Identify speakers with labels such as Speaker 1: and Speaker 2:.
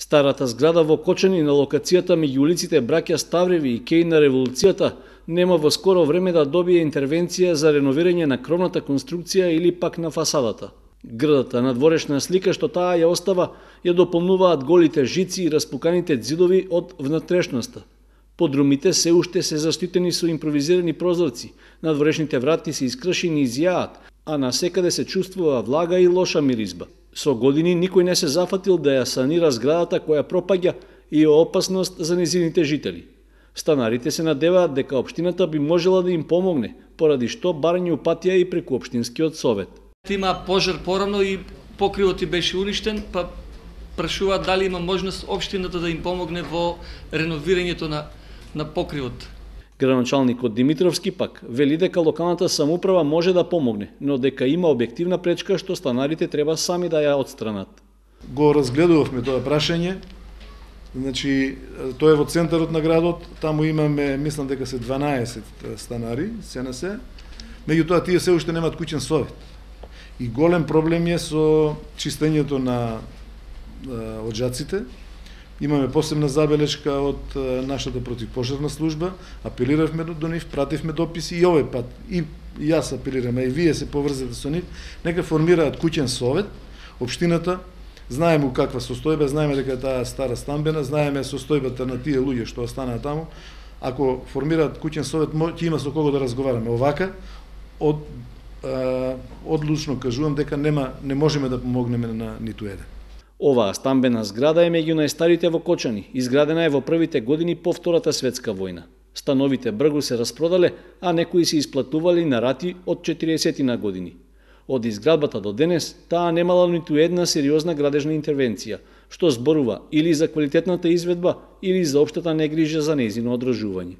Speaker 1: Старата зграда во Кочани на локацијата меѓу улиците Браќа Ставреви и Кеј на Револуцијата нема во скоро време да добие интервенција за реновирање на кровната конструкција или пак на фасадата. Грдата надворешна слика што таа ја остава ја дополнуваат голите жици и распуканите ѕидови од внатрешноста. Подрумите се уште се заштитени со импровизирани прозорци, надворешните врати се искршени и зјаат, а насекаде се чувствува влага и лоша миризба. Со години никој не се зафатил да ја санира зградата која пропаѓа и е опасност за незините жители. Станарите се надеваат дека општината би можела да им помогне, поради што барање упатија и преку општинскиот совет.
Speaker 2: Има пожар порано и покривот беше уништен, па прашуваат дали има можност општината да им помогне во реновирањето на покривот.
Speaker 1: Градоначалникот Димитровски пак вели дека локалната самоуправа може да помогне, но дека има објективна пречка што станарите треба сами да ја отстранат.
Speaker 3: Го разгледувавме тоа прашање. Значи, тоа е во центарот на градот, таму имаме, мислам дека се 12 станари, се на се. Меѓутоа тие се уште немаат куќен совет. И голем проблем е со чистењето на оджаците. Имаме посебна забелешка од нашата противпожарна служба, апелиравме до нив, пративме дописи и овој пат и јас апелирам, а и вие се поврзете со нив, нека формираат куќен совет. Општината знаеме у каква состојба, знаеме дека таа стара стамбена, знаеме состојбата на тие луѓе што останаа таму. Ако формираат куќен совет, ќе има со кого да разговараме. Овака одлучно кажувам дека не можеме да помогнеме на ниту еден.
Speaker 1: Оваа стамбена зграда е меѓу најстарите во Кочани. Изградена е во првите години по Втората светска војна. Становите бргу се распродале, а некои се исплатували на рати од 40 години. Од изградбата до денес, таа немала ниту една сериозна градежна интервенција, што зборува или за квалитетната изведба, или за општата негрижа за нејзино одржување.